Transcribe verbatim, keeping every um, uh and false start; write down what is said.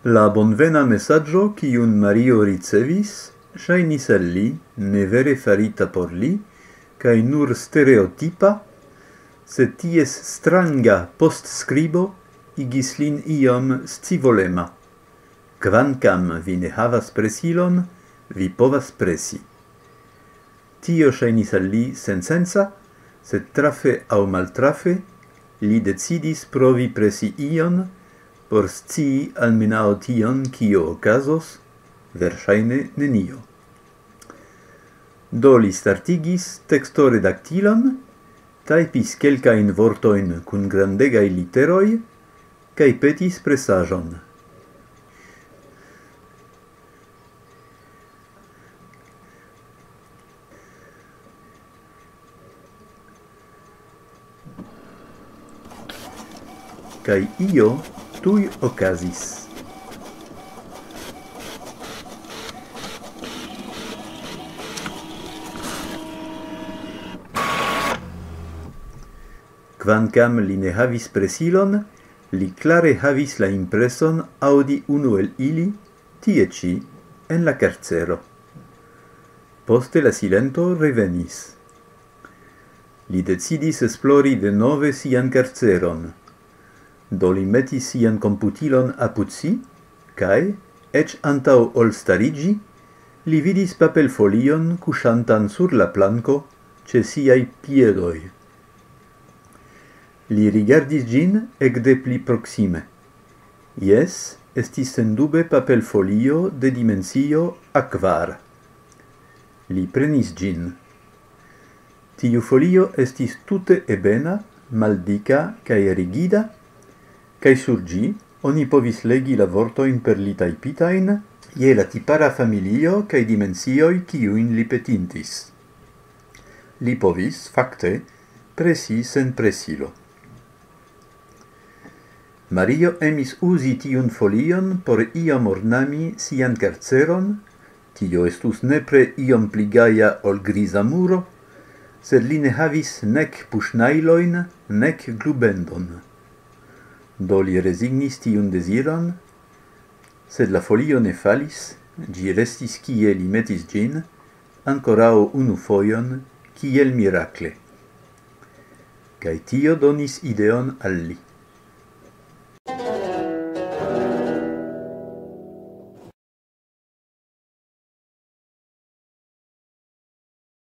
La bonvena mesaĝo, kiun Mario ricevis, ŝajnis al li ne vere farita por li, kaj nur stereotipa, sed ties stranga postskribo igis lin iom scivolema. "Kvankam vi ne havas presilon, vi povas presi." Tio ŝajnis al li sensensa, sed trafe aŭ maltrafe, li decidis provi presi ion, por scii almenaŭ tion, kio okazos, verŝajne nenio. Do li startigis tekstoredaktilon, tajpis kelkajn vortojn kun grandegaj literoj, kaj petis presaĵon. Kaj io tuj okazis. Kvankam li ne havis presilon, li klare havis la impreson aŭdi unu el ili, tie ĉi, en la karcero. Poste la silento revenis. Li decidis esplori denove sian karceron. Do li metis sian komputilon apud si, kaj, eĉ antaŭ ol stariĝi, li vidis papelfolion kuŝantan sur la planko ĉe siaj piedoj. Li rigardis ĝin ekde pli proksime. Jes, estis sendube papelfolio de dimensio A kvar. Li prenis ĝin. Tiu folio estis tute ebena, maldika kaj rigida, kaj sur ĝi oni povis legi la vortojn per li tajpitajn je la tipara familio kaj dimensioj, kiujn li petintis. Li povis, fakte, presi sen presilo. Mario emis uzi tiun folion por iom ornami sian karceron, tio estus nepre iom pli gaja ol griza muro, sed li ne havis nek puŝnajlojn, nek glubendon. Do li rezignis tiun deziron, sed la folio ne falis, ĝi restis kie li metis ĝin, ankoraŭ unu fojon, kiel mirakle. Kaj tio donis ideon al li.